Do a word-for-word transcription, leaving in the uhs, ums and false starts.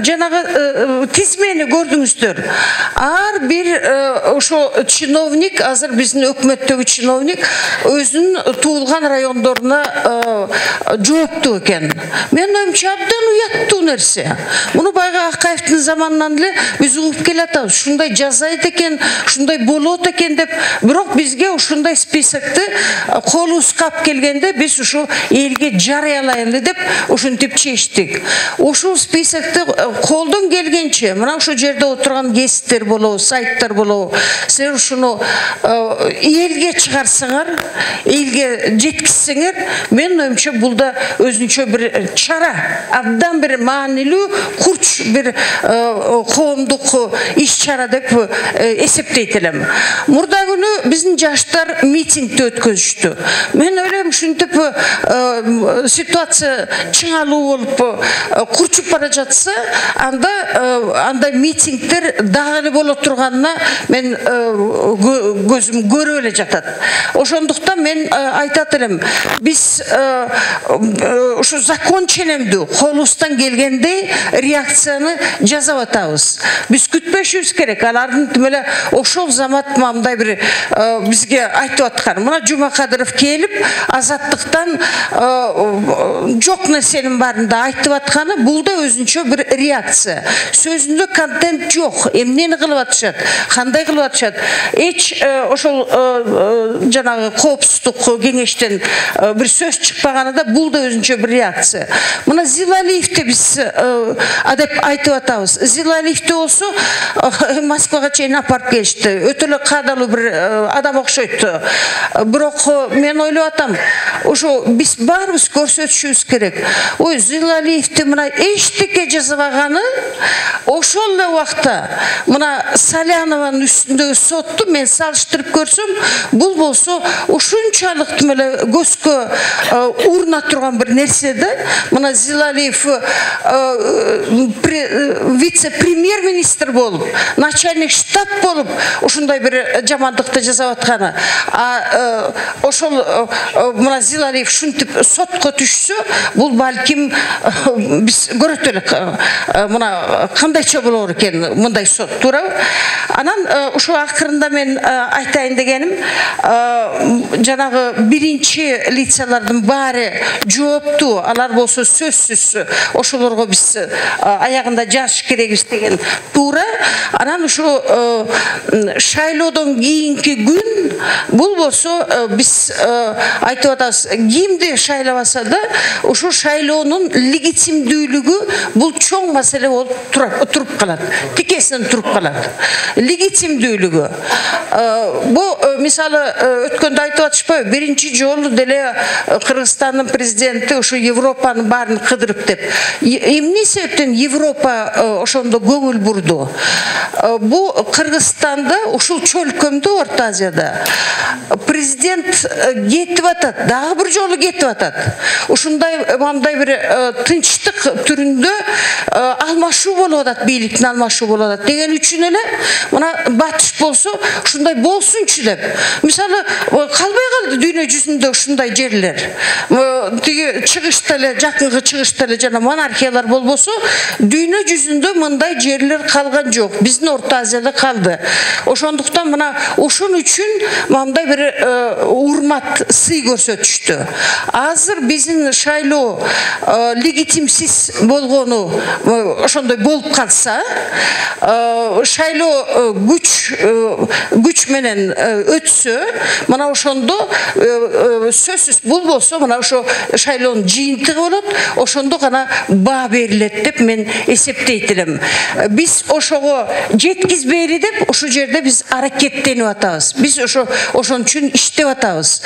жанагы тизмени көрдүңүздөр. Ар бир ошо чиновник, азыр биздин өкмөттөгү чиновник өзүнүн туулган райондоруна жооптуу экен. Мен оюмча абдан уяттуу нерсе. Муну байга Акаевдин заманынан эле биз угуп келатабыз. Ушундай жасайт экен, ушундай болот экен деп, бирок бизге ушундай списокты колубузга алып келгенде биз ушу элге жарыялайлы деп ушинтип чечтик. Ушул списокты колдон келгенче, мына ошол жерде отурган гесттер болобу, сайттар болобу, силер ушуну элге чыгарсаңар, элге жеткизсеңер, мен оюмча бул да өзүнчө бир чара, абдан бир маанилүү, курч бир коомдук иш-чара деп эсептейт элем. Мурда күнү биздин жаштар митингди өткөзүштү. Мен ойлойм, ушинтип ситуация чыңалуу болуп курчуп бара жатса, анда андай митингдер дагы эле боло турганына мен көзүм көрүп эле жатат. Ошондуктан мен айтат элем, биз ушу закон ченемдүү колубуздан келгендей реакцияны жасап атабыз. Биз күтпөшүбүз керек. Алардын тим эле ошол замат мындай бир бизге айтып аткан. Мына Жумакадыров келип, азаттыктан жок нерсенин баарын да айтып атканы, бул да өзүнчө бир реакция. Сөзүндө контент жок. Эмнени кылып атышат, кандай кылып атышат. Эч ошол жанагы коопсуздук кеңештен бир сөз чыкпаганы да, бул да өзүнчө бир реакция. Мына Зилалиевди биз деп айтып атабыз. Зилалиевди болсо Москвага чейин апарып келишти. Өтө эле кадалуу бир адам окшойт. Бирок мен ойлоп атам, ошо биз баарыбыз көрсөтүшүбүз керек. Ой, Зилалиевди мына эчтеке жасабаганы, ошол эле убакта мына Салянованын үстүндөгү сотту мен салыштырып көрсөм, бул болсо ушунчалык тим эле көзгө уруна турган бир нерсе да. Мына Зилалиев вице-премьер-министр болуп, начальник штаб болуп, ушундай бир жамандыкты жасап атканы. А ошол мына Зилалиев ушинтип сотко түшсө, бул балким биз көрөт элек. Мына кандайча болор экен мындай сот, туурабы? Анан ушул акырында мен айтайын дегеним, жанагы биринчи лицалардын баары жооптуу, алар болсо сөзсүз ошолорго биз аягында жазыш керекбиз деген туура. Анан ушу шайлоодон кийинки күн, бул болсо биз айтып атабыз, кимди шайлабаса да, ушу шайлоонун легитимдүүлүгү бул чоң маселе болуп туруп калат. Тикесинен туруп калат. Легитимдүүлүгү. Бул мисалы өткөндө айтып атышпайбы, биринчи жолу деле Кыргызстандын президенти ушу Европанын баарын кыдырып деп. Эмне себептен Европа ошондо көңүл бурду? Бу Кыргызстанда, ушул чөлкөмдө, Орто Азияда президент кетип атат, дагы бир жолу кетип атат. Ушундай мындай бир тынчтык түрүндө алмашуу болуп атат, бийликтин алмашуу болуп атат деген үчүн эле мына батыш болсо ушундай болсунчу деп. Мисалы калбай калды дүйнө жүзүндө ушундай жерлер. Тиги чыгышта эле, жакынкы чыгышта эле жана монархиялар болбосо, дүйнө жүзүндө мындай жерлер калган жок. Биздин Орто Азияда калды. Ошондуктан мына ушун үчүн мындай бир урмат, сый көрсөтүштү. Азыр биздин шайлоо легитимсиз болгону ошондой болуп калса, шайлоо күч күч менен өтсө, мына ошондо сөзсүз бул болсо, мына ошо шайлоонун жыйынтыгы болот, ошондо гана баа берилет деп мен эсептейт элем. Биз ошого жеткизбейли деп ушул жерде биз аракеттенип атабыз. Биз ошо ошон үчүн иштеп атабыз.